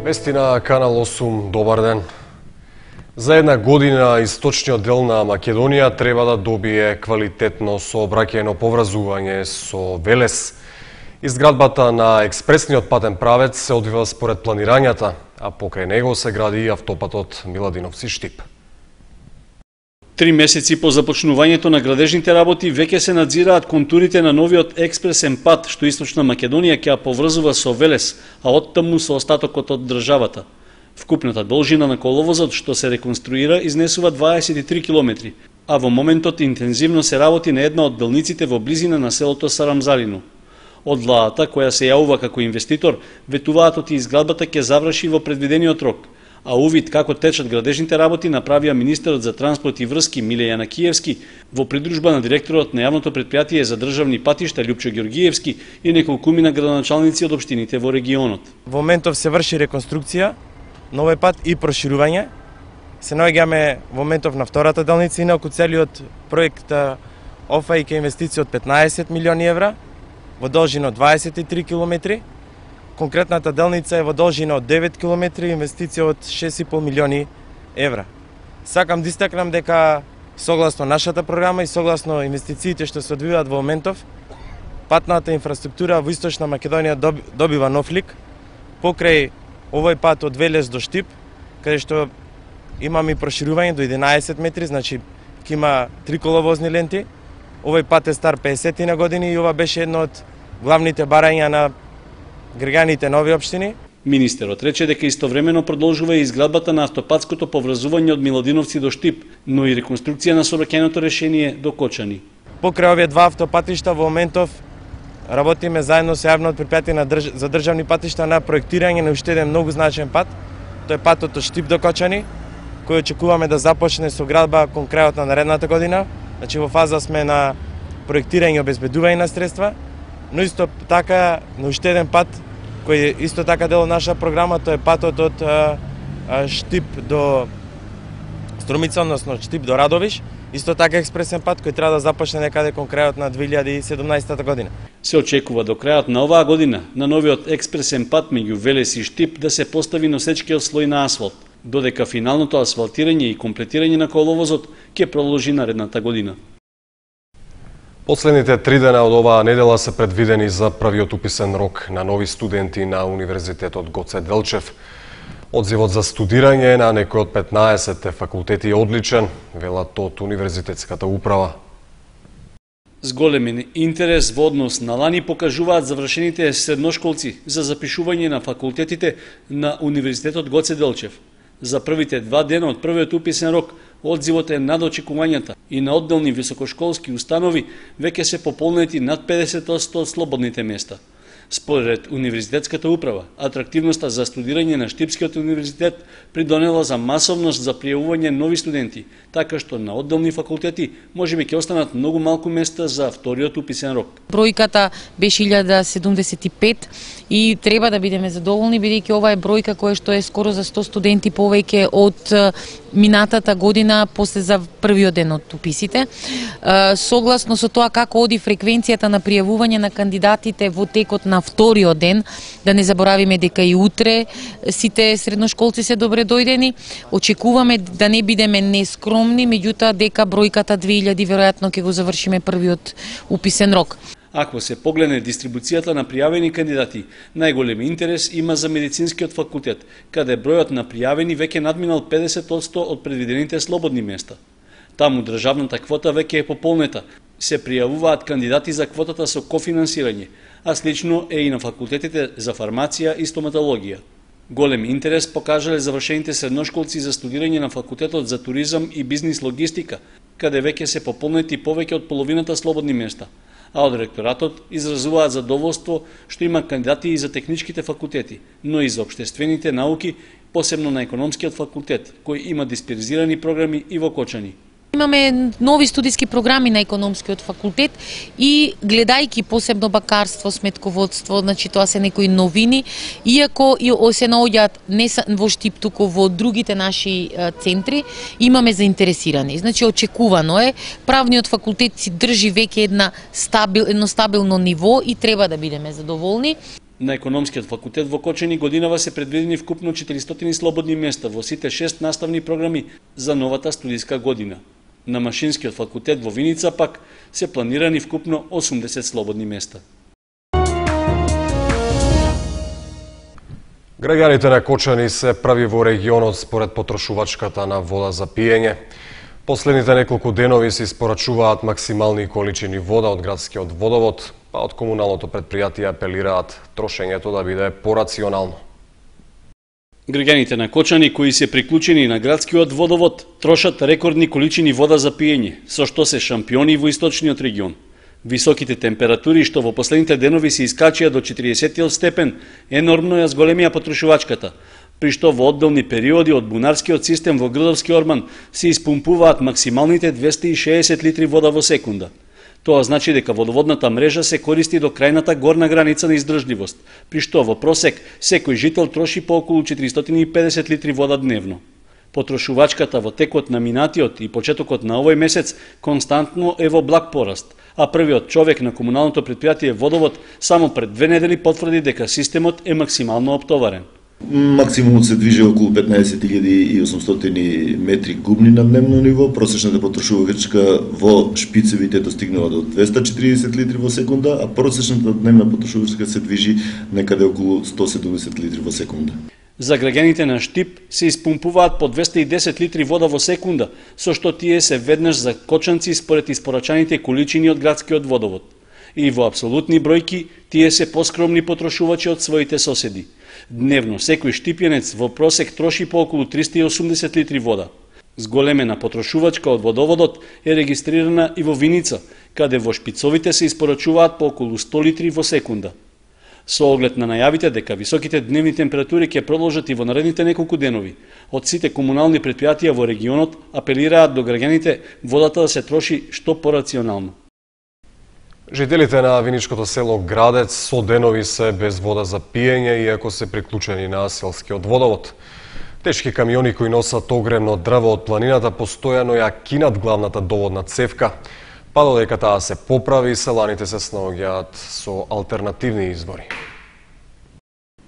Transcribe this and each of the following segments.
Вести на Канал 8, добар ден. За една година источниот дел на Македонија треба да добие квалитетно сообраќајно поврзување со Велес. Изградбата на експресниот патен правец се одвива според планирањата, а покрај него се гради и автопатот Миладиновци-Штип. 3 месеци по започнувањето на градежните работи веќе се надзираат контурите на новиот експресен пат што Источна Македонија ќе ја поврзува со Велес, а оттаму со остатокот од државата. Вкупната должина на коловозот што се реконструира изнесува 23 километри, а во моментот интензивно се работи на една од делниците во близина на селото Сарамзалино. Од владата, која се јавува како инвеститор, ветуваат оти изградбата ќе заврши во предвидениот рок, а увид како течат градежните работи направија министерот за транспорт и врски Миле Јанакиевски во придружба на директорот на јавното претпријатие за државни патишта Љупчо Ѓоргиевски и неколкумина градоначалници од општините во регионот. Во моментов се врши реконструкција на овој пат и проширување. Се наоѓаме во моментов на втората делница, инаку целиот проект офаќа инвестиција од 15 милиони евра во должина од 23 километри. Конкретната делница е во должина од 9 километри, инвестиција од 6,5 милиони евра. Сакам да истакнам дека согласно нашата програма и согласно инвестициите што се одвиваат во моментов, патната инфраструктура во Источна Македонија добива нов лик. Покрај овој пат од Велес до Штип, каде што имаме и проширување до 11 метри, значи ќе има 3 коловозни ленти. Овој пат е стар 50 на години и ова беше едно од главните барања на граѓаните на овие општини. Министерот рече дека истовремено продолжува и изградбата на автопатското поврзување од Миладиновци до Штип, но и реконструкција на сообраќајното решение до Кочани. Покрај овие два автопатишта во моментов работиме заедно со јавното претпријатие за државни патишта на проектирање на уште еден многу значаен пат. Тој е патот од Штип до Кочани, кој очекуваме да започне со градба кон крајот на наредната година. Значи во фаза сме на проектирање и обезбедување на средства, но исто така на уште еден пат кој е исто така дел од наша програма, тоа е патот од Штип до Струмица, односно Штип до Радовиш, исто така експресен пат кој треба да започне некаде кон крајот на 2017 година. Се очекува до крајот на оваа година на новиот експресен пат меѓу Велес и Штип да се постави носечкиот слој на асфалт, додека финалното асфалтирање и комплетирање на коловозот ќе продолжи наредната година. Последните 3 дена од оваа недела се предвидени за првиот уписен рок на нови студенти на Универзитетот Гоце Делчев. Одзивот за студирање на некој од 15 факултети е одличен, велат од Универзитетската управа. С голем интерес во однос на лани покажуваат завршените средношколци за запишување на факултетите на Универзитетот Гоце Делчев. За првите 2 дена од првиот уписен рок, одзивот е над очекувањата и на одделни високошколски установи веќе се пополнети над 50% од слободните места. Според Универзитетската управа, атрактивноста за студирање на Штипскиот универзитет придонела за масовност за пријавување нови студенти, така што на одделни факултети можеби ќе останат многу малку места за вториот уписен рок. Бројката беше 1075 и треба да бидеме задоволни, бидејќи ова е бројка која што е скоро за 100 студенти повеќе од минатата година после за првиот ден од уписите. Согласно со тоа како оди фреквенцијата на пријавување на кандидатите во текот на вториот ден, да не заборавиме дека и утре сите средношколци се добре дојдени, очекуваме да не бидеме нескромни, меѓутоа дека бројката 2000 веројатно ќе го завршиме првиот уписен рок. Ако се погледне дистрибуцијата на пријавени кандидати, најголем интерес има за медицинскиот факултет, каде бројот на пријавени веќе надминал 50% од предвидените слободни места. Таму државната квота веќе е пополнета, се пријавуваат кандидати за квотата со кофинансирање, а слично е и на факултетите за фармација и стоматологија. Голем интерес покажале завршените средношколци за студирање на факултетот за туризам и бизнис логистика, каде веќе се пополнети повеќе од половината слободни места, а од ректоратот изразуваат задоволство што има кандидати и за техничките факултети, но и за општествените науки, посебно на економскиот факултет, кој има дисперзирани програми и во Кочани. Имаме нови студиски програми на економскиот факултет и гледајќи посебно бакарство, сметководство, значи тоа се некои новини, иако и се наоѓаат не во Штип, туку во другите наши центри, имаме заинтересирани. Значи очекувано е, правниот факултет си држи веќе едно стабилно ниво и треба да бидеме задоволни. На економскиот факултет во Кочани годинава се предвидени вкупно 400 слободни места во сите 6 наставни програми за новата студиска година. На Машинскиот факултет во Виница пак се планирани вкупно 80 слободни места. Граѓаните на Кочани се прави во регионот според потрошувачката на вода за пиење. Последните неколку денови се испорачуваат максимални количини вода од градскиот водовод, па од комуналното претпријатие апелираат трошењето да биде порационално. Граѓаните на Кочани кои се приклучени на градскиот водовод трошат рекордни количини вода за пиење, со што се шампиони во источниот регион. Високите температури што во последните денови се искачија до 40 степен енормно ја зголемија потрошувачката, при што во одделни периоди од бунарскиот систем во Грдовски орман се испумпуваат максималните 260 литри вода во секунда. Тоа значи дека водоводната мрежа се користи до крајната горна граница на издржливост, при што во просек секој жител троши по околу 450 литри вода дневно. Потрошувачката во текот на минатиот и почетокот на овој месец константно е во благ пораст, а првиот човек на комуналното претпријатие Водовод само пред 2 недели потврди дека системот е максимално оптоварен. Максимумот се движи околу 15.800 метри кубни на дневно ниво, просечната потрошувачка во шпицевите достигнува до 240 литри во секунда, а просечната дневна потрошувачка се движи некаде околу 170 литри во секунда. За граѓаните на Штип се испумпуваат по 210 литри вода во секунда, со што тие се веднаш за кочанци според испорачаните количини од градскиот водовод. И во апсолутни бројки тие се поскромни потрошувачи од своите соседи. Дневно секој штипјанец во просек троши по околу 380 литри вода. Зголемена потрошувачка од водоводот е регистрирана и во Виница, каде во шпицовите се испорачуваат по околу 100 литри во секунда. Со оглед на најавите дека високите дневни температури ќе продолжат и во наредните неколку денови, од сите комунални претпријатија во регионот апелираат до граѓаните водата да се троши што порационално. Жителите на виничкото село Градец со денови се без вода за пиење иако се приклучени на селскиот водовод. Тешки камиони кои носат огремно дрво од планината постојано ја кинат главната доводна цевка, па додека таа се поправи, селаните се снаоѓаат со алтернативни извори.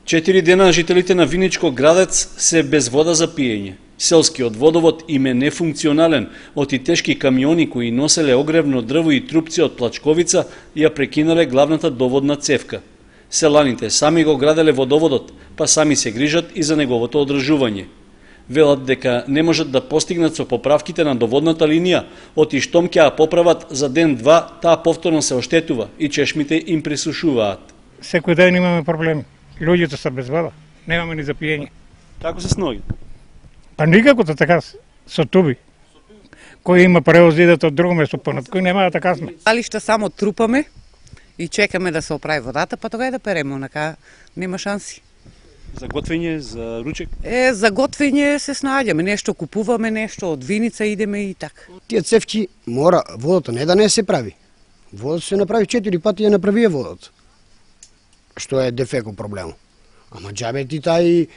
4 дена жителите на Виничко Градец се без вода за пиење. Селскиот водовод им е нефункционален, од и тешки камиони кои носеле огревно дрво и трупци од плачковица ја прекинале главната доводна цевка. Селаните сами го граделе водоводот, па сами се грижат и за неговото одржување. Велат дека не можат да постигнат со поправките на доводната линија, оти штом ќе ја поправат за ден-два, таа повторно се оштетува и чешмите им присушуваат. Секој ден имаме проблеми. Луѓето се без вода, немаме ни за пиење. Како се сноги? Па никако така со туби. Кој има превоз идат од друго место понад, кој нема да така сме. Али што само трупаме и чекаме да се оправи водата, па тога да переме, онака нема шанси. За готвење, за ручек? За готвење се снаѓаме, нешто купуваме, нешто од Виница идеме и така. Тие цевки мора водата не да не се прави. Водата се направи 4 пати ја направија водата. Што е дефеко проблем. Ама џабе ти тај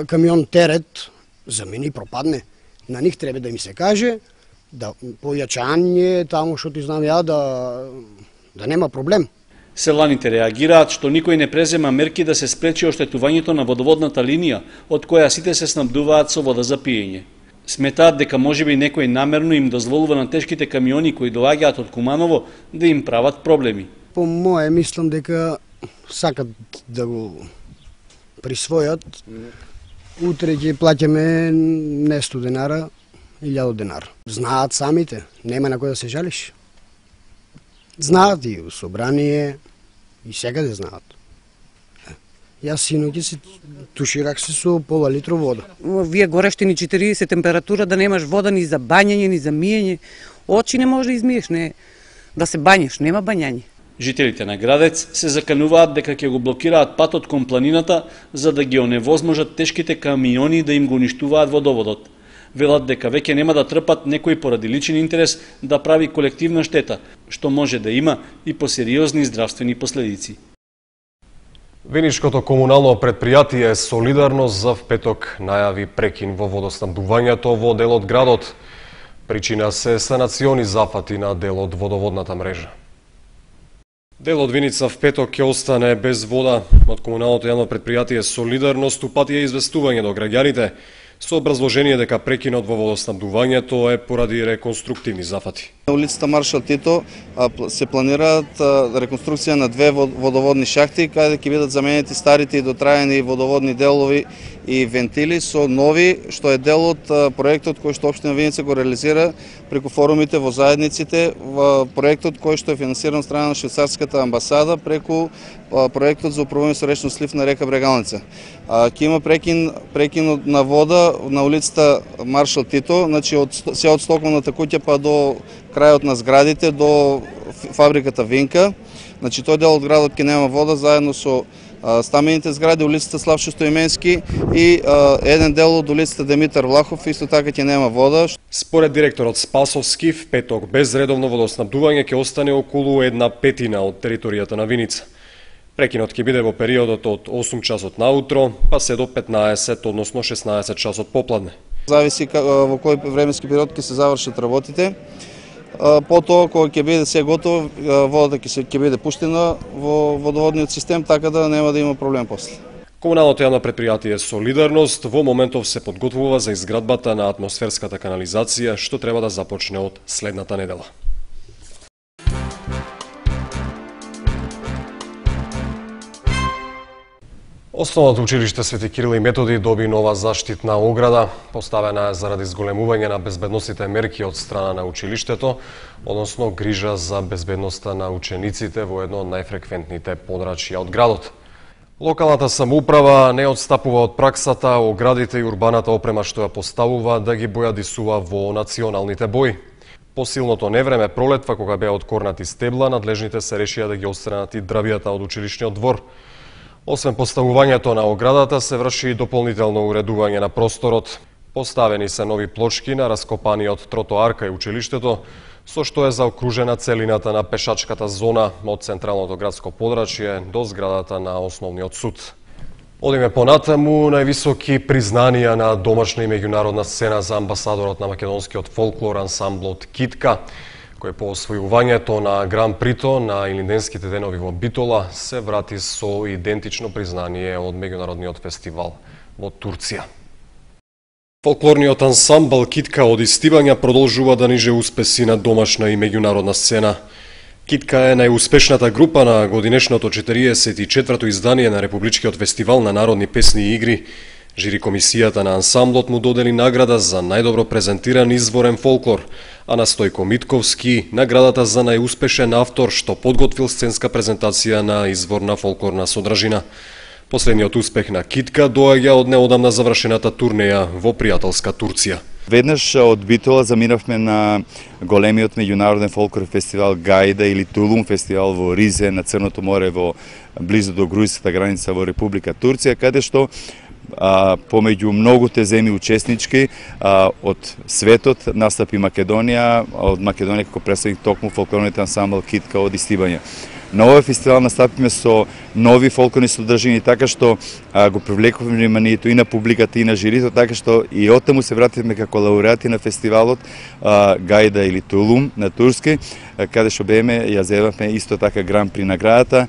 камион терет за мене пропадне. На нив треба да им се каже да појачање таму што ти знам ја да нема проблем. Селаните реагираат што никој не презема мерки да се спречи оштетувањето на водоводната линија, од која сите се снабдуваат со вода за пиење. Сметаат дека можеби некој намерно им дозволува на тешките камиони кои доаѓаат од Куманово да им прават проблеми. По мое мислам дека сакат да го присвојат. Утре ќе плаќаме не 100 денара, 1000 денара. Знаат самите, нема на кој да се жалиш. Знаат и у собрание, и секаде знаат. Јас синоќа се туширах се со пола литро вода. Вие горештени 40 температура, да немаш вода ни за бањање, ни за миење. Очи не може да измиеш, не да се бањеш, нема бањање. Жителите на Градец се закануваат дека ќе го блокираат патот кон планината за да ги оневозможат тешките камиони да им го уништуваат водоводот. Велат дека веќе нема да трпат некој поради личен интерес да прави колективна штета, што може да има и посериозни здравствени последици. Виничкото комунално претпријатие Солидарност за петок најави прекин во водоснабдувањето во дел од градот. Причина се санациони зафати на дел од водоводната мрежа. Дел од Виница в петок ќе остане без вода. Од комуналното јавно предпријатие Солидарност упатија известување до граѓаните со образложение дека прекинот во водоснабдувањето е поради реконструктивни зафати. На улицата Маршал Тито се планираат реконструкција на две водоводни шахти, каде ќе бидат заменети старите и дотраени водоводни делови и вентили со нови, што е дел од проектот кој што општина Виница го реализира преку форумите во заедниците, во проектот кој што е финансиран од страна на швајцарската амбасада преку проектот за управување со речен слив на река Брегалница. Ќе има прекин на вода на улицата Маршал Тито, значи се од стоковната куќа па до крајот на зградите до фабриката Винка. Значи тој дел од градот ќе нема вода заедно со стамените згради, улицата Славчо Стоименски и еден дел од улицата Димитар Влахов исто така ќе нема вода. Според директорот Спасовски, в петок без редовно водоснабдување ќе остане околу 1/5 од територијата на Виница. Прекинот ќе биде во периодот од 8 часот наутро, па се до 15, односно 16 часот попладне. Зависи во кој временски период ќе се завршат работите. Потоа, кога ќе биде се готово, водата ќе биде пуштена во водоводниот систем, така да нема да има проблем после. Комуналното јавно предпријатие Солидарност во моментов се подготвува за изградбата на атмосферската канализација, што треба да започне од следната недела. Основното училиште Свети Кирил и Методи доби нова заштитна ограда, поставена е заради зголемување на безбедносните мерки од страна на училиштето, односно грижа за безбедноста на учениците во едно од најфреквентните подрачја од градот. Локалната самоуправа не отстапува од праксата оградите и урбаната опрема што ја поставува да ги бојадисува во националните бои. По силното невреме пролетва, кога беа откорнати стебла, надлежните се решија да ги отстранат и дрвијата од училишниот двор. Освен поставувањето на оградата, се врши и дополнително уредување на просторот. Поставени се нови плочки на раскопаниот тротоар кај училиштето, со што е заокружена целината на пешачката зона од централното градско подрачје до зградата на основниот суд. Одиме понатаму, највисоки признанија на домашна и меѓународна сцена за амбасадорот на македонскиот фолклор ансамблот Китка, кој по освојувањето на Гран Прито на Илинденските денови во Битола се врати со идентично признание од меѓународниот фестивал во Турција. Фолклорниот ансамбл Китка од Истивања продолжува да ниже успеси на домашна и меѓународна сцена. Китка е најуспешната група на годинешното 44-то издание на Републичкиот фестивал на народни песни и игри. Жири комисијата на ансамблот му додели награда за најдобро презентиран изворен фолклор, а на Стојко Митковски наградата за најуспешен автор што подготвил сценска презентација на изворна фолклорна содржина. Последниот успех на Китка доаѓа од неодамна завршената турнеја во пријателска Турција. Веднаш од Битола заминавме на големиот меѓународен фолклор фестивал Гајда или Тулум фестивал во Ризе на Црното море во близу до грузинската граница во Република Турција, каде што помеѓу многуте земји учеснички од светот настапи Македонија, од Македонија како представник токму фолклорниот ансамбл Китка од Истивања. На овој фестивал настапиме со нови фолклорни содржини, така што го привлекуваме вниманието и на публиката и на жирито, така што и оттаму се вративме како лауреати на фестивалот Гајда или Тулум на турски, каде што беме ја зедовме исто така Гран При наградата,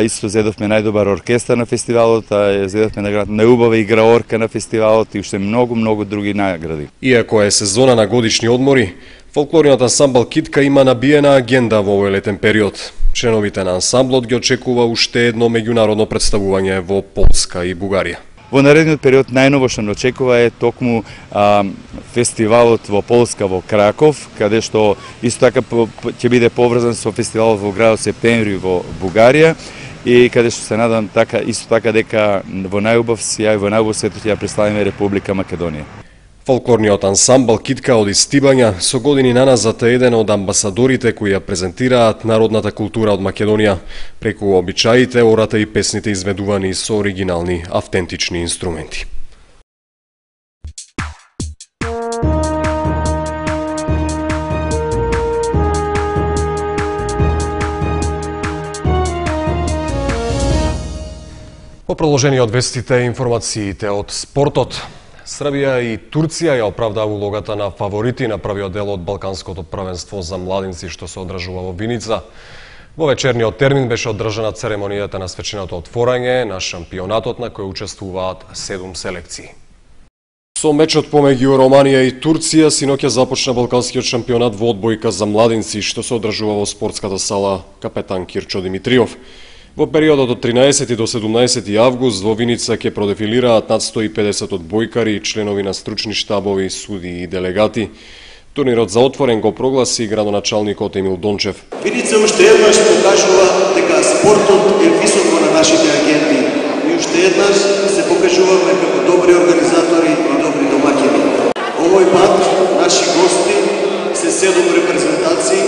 исто зедовме најдобар оркестар на фестивалот, ја зедовме наградата најубава играорка на фестивалот и уште многу други награди. Иако е сезона на годишни одмори, фолклорниот ансамбл Китка има набиена агенда во овој летен период. Членовите на ансамблот ги очекува уште едно меѓународно представување во Полска и Бугарија. Во наредниот период најново што не очекува е токму фестивалот во Полска во Краков, каде што исто така ќе биде поврзан со фестивалот во градот Септември во Бугарија и каде што се надам исто така дека во најубав сјај, во најубав светот ќе ја представиме Република Македонија. Фолклорниот ансамбл Китка од Истивања со години наназад е еден од амбасадорите кои ја презентираат народната култура од Македонија преку обичаите, ората и песните изведувани со оригинални, автентични инструменти. По продолжение од вестите и информациите од спортот, Србија и Турција ја оправдаа улогата на фаворити на првиот дел од Балканското првенство за младинци што се одржува во Виница. Во вечерниот термин беше одржана церемонијата на свеченото отворање на шампионатот на кој учествуваат 7 селекции. Со мечот помеѓу Романија и Турција синоќа започна балканскиот шампионат во одбојка за младинци што се одржува во спортската сала Капетан Кирчо Димитриов. Во периодот од 13 до 17 август во Виница ќе продефилираат над 150 одбојкари и членови на стручни штабови, судии и делегати. Турнирот за отворен го прогласи градоначалникот Емил Дончев. Виница уште еднаш покажува дека спортот е високо на нашите агенти и уште еднаш се покажуваме како добри организатори и добри домаќини. Овој пат наши гости се 7 репрезентации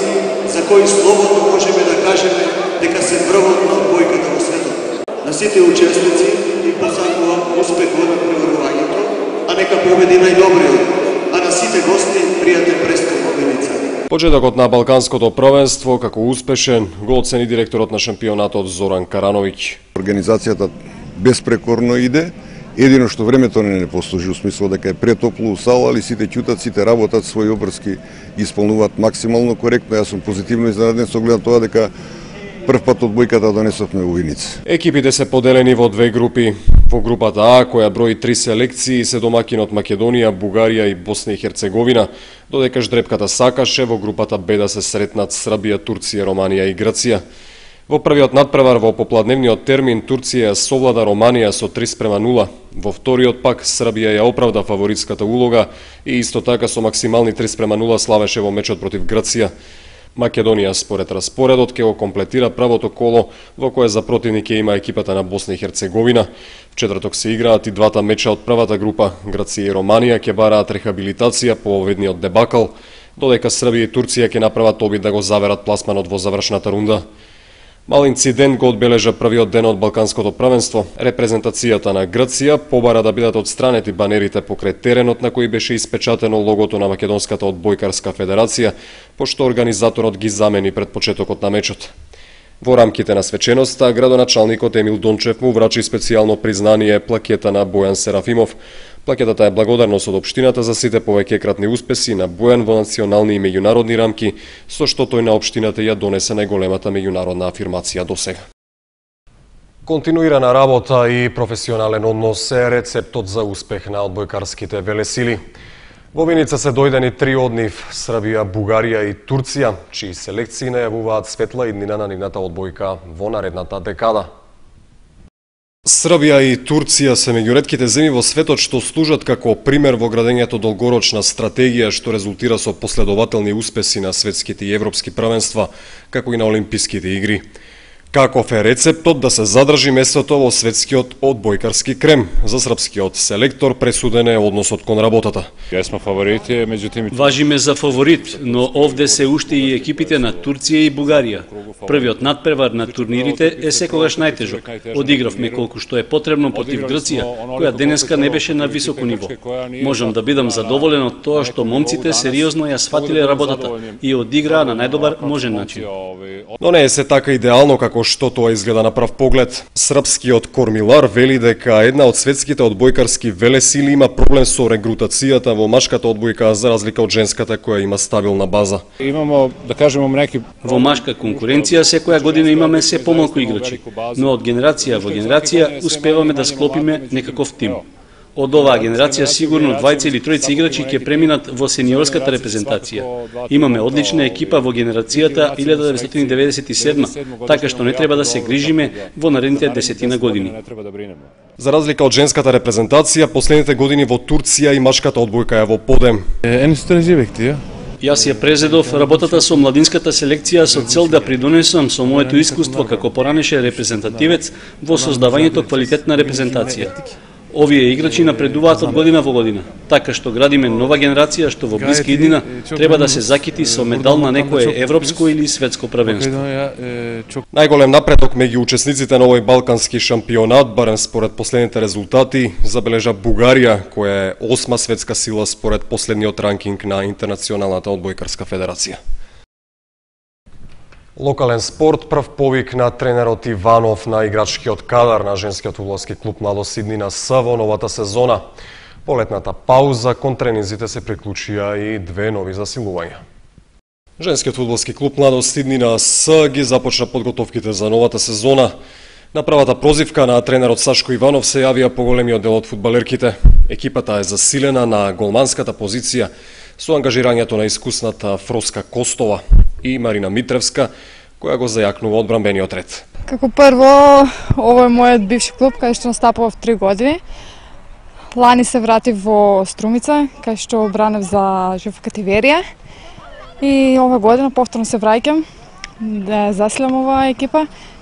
за кои слободно можеме да кажеме дека се врвот на одбојката во светот. На сите учесници и посакувам успех во надпреварувањето, а нека победи најдобриот, а на сите гости пријатен престол во Виница. Почетокот на балканското првенство како успешен го оцени директорот на шампионатот Зоран Карановиќ. Организацијата безпрекорно иде, едино што времето не послужи, у смисло дека е претопло у сала, али сите ќутат, сите работат, своји обврски ги исполнуваат максимално коректно. Јас сум позитивно изненаден со оглед на тоа дека прв пат одбојката донесовме во Виница. Екипите се поделени во две групи. Во групата А, која брои 3 селекции, се домакинот Македонија, Бугарија и Босна и Херцеговина, додека ждрепката сакаше во групата Б да се сретнат Србија, Турција, Романија и Грција. Во првиот надпревар во попладневниот термин Турција совлада Романија со 3:0. Во вториот пак Србија ја оправда фаворитската улога и исто така со максимални 3:0 славеше во мечот против Грција. Македонија според распоредот ќе го комплетира правото коло во кое за противник ќе има екипата на Босна и Херцеговина. В четврток се играат и двата меча од првата група. Грција и Романија ќе бараат рехабилитација по оведниот дебакл, додека Србија и Турција ќе направат обид да го заверат пласманот во завршната рунда. Мал инцидент го одбележа првиот ден од балканското првенство. Репрезентацијата на Грција побара да бидат отстранети банерите покрај теренот на кој беше испечатено логото на Македонската одбојкарска федерација, пошто организаторот ги замени пред почетокот на мечот. Во рамките на свеченоста, градоначалникот Емил Дончев му врачи специјално признание плакета на Бојан Серафимов. Плакетата е благодарност од општината за сите повеќекратни успеси на Бојан во национални и меѓународни рамки, со што тој на општината ја донесе најголемата меѓународна афирмација досега. Континуирана работа и професионален однос е рецептот за успех на одбојкарските велесили. Во Виница се дојдени 3 од нив, Србија, Бугарија и Турција, чии селекции најавуваат светла иднина на нивната одбојка во наредната декада. Србија и Турција се меѓу ретките земји во светот што служат како пример во градењето долгорочна стратегија што резултира со последователни успеси на светските и европски првенства, како и на олимписките игри. Каков е рецептот да се задржи местото во светскиот одбојкарски крем? За српскиот селектор пресуден е односот кон работата. Јесмо фаворити, меѓутоа важиме за фаворит, но овде се уште и екипите на Турција и Бугарија. Првиот надпревар на турнирите е секогаш најтежок. Одигравме колку што е потребно против Грција, која денеска не беше на високо ниво. Можам да бидам задоволен од тоа што момците сериозно ја сватиле работата и одиграа на најдобар можен начин. Но не е се така идеално како што тоа изгледа на прв поглед. Српскиот кормилар вели дека една од светските одбојкарски велесили има проблем со регрутацијата во машката одбојка за разлика од женската која има стабилна база. Имамо, да кажеме, неки во машка конкуренција секоја година имаме се помалку играчи, но од генерација во генерација успеваме да склопиме некаков тим. Од оваа генерација сигурно 2 или 3 играчи ќе преминат во сениорската репрезентација. Имаме одлична екипа во генерацијата 1997, така што не треба да се грижиме во наредните 10 години. За разлика од женската репрезентација, последните години во Турција и машката одбојка е во подем. Јас ја презедов работата со младинската селекција со цел да придонесам со моето искуство како поранеше репрезентативец во создавањето квалитетна репрезентација. Овие играчи напредуваат од година во година, така што градиме нова генерација што во блиска иднина треба да се закити со медал на некое европско или светско првенство. Најголем напредок меѓу учесниците на овој балкански шампионат, барем според последните резултати, забележа Бугарија, која е 8 светска сила според последниот ранкинг на Интернационалната одбојкарска федерација. Локален спорт, прв повик на тренерот Иванов на играчкиот кадар на женскиот фудбалски клуб Младост Иднина С во новата сезона. По летната пауза кон тренинзите се приклучија и 2 нови засилувања. Женскиот фудбалски клуб Младост Иднина С ги започна подготовките за новата сезона. На првата прозивка на тренерот Сашко Иванов се јавија поголемиот дел од фудбалерките. Екипата е засилена на голманската позиција со ангажирањето на искусната Фроска Костова и Марина Митревска, која го зајакнува одбранбениот ред. Како прво, ово е мојот бивши клуб, кај што настапував 3 години. Лани се вратив во Струмица, кај што бранев за ЖФ Катеверија. И ова година повторно се враќам да засилам оваа екипа,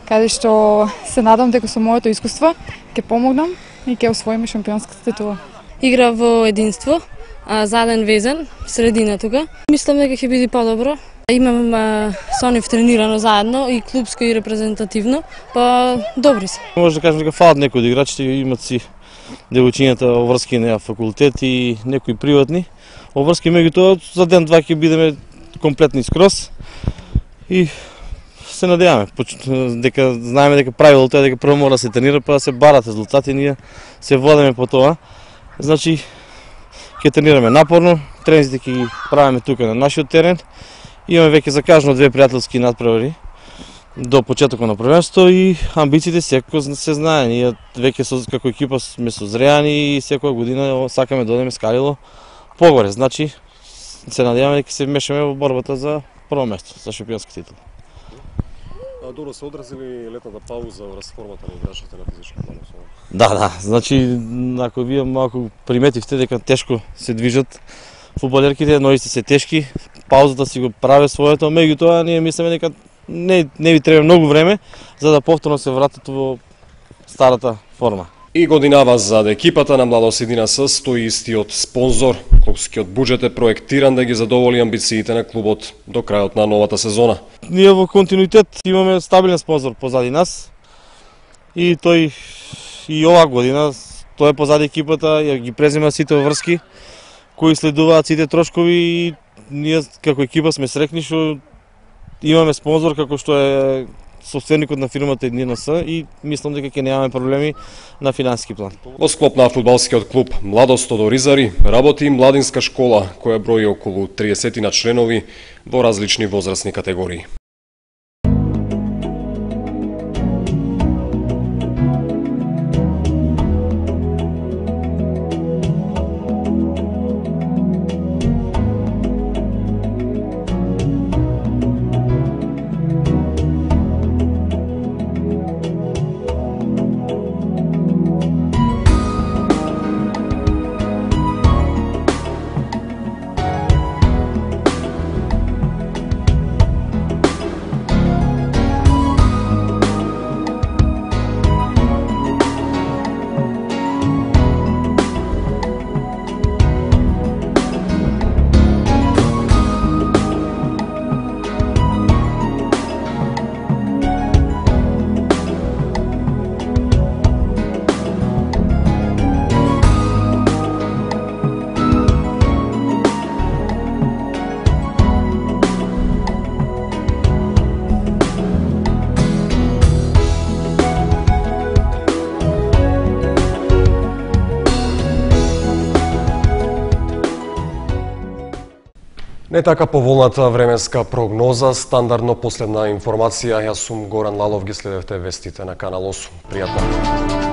каде што се надам дека со моето искуство ќе помогнам и ќе освоиме шампионската титула. Игра во единство, заден везен, средина тука. Мислам дека ќе биде подобро. Имам со нив тренирано заедно и клубско и репрезентативно, па добри се. Може да кажам дека фалат некои од играчите, имат си девојчињата обврски на факултет и некои приватни. Обврски меѓутоа за ден-два ќе бидеме комплетни скроз и се надеваме дека знаеме дека правилото е дека прво мора да се тренира па да се барат резултати, ние се водиме по тоа. Значи ќе тренираме напорно, тренизите ќе ги правиме тука на нашиот терен. Имаме веќе закажано 2 пријателски надпревари до почетокот на првенството и амбициите секој се знае. Ние веќе како екипа сме созреани и секоја година сакаме да одиме скалило погоре. Значи се надеваме дека се вмешаме во борбата за прво место, за шампионска титула. Добро се одразили летната пауза во расформата на играчите на физички план? Да, значи ако вие малку приметивте дека тешко се движат фудбалерките, ногите се тешки, паузата си го праве своето, меѓутоа ние мислиме дека не ви треба многу време за да повторно се вратат во старата форма. И годинава за екипата на Младост Иднина С стои истиот спонзор. Клубскиот буџет е проектиран да ги задоволи амбициите на клубот до крајот на новата сезона. Ние во континуитет имаме стабилен спонзор позади нас и тој и оваа година тој е позади екипата, ја ги презема сите врски кои следуваат сите трошкови и ние како екипа сме среќни што имаме спонзор како што е собственикот на фирмата Иднина С и мислам дека ќе немаме проблеми на финансиски план. Во склоп на фудбалскиот клуб Младост од Оризари работи и младинска школа која брои околу 30 на членови во различни возрастни категории. Не така поволната временска прогноза, стандардно последна информација. Јас сум Горан Лалов, ги следевте вестите на Канал 8. Пријатно.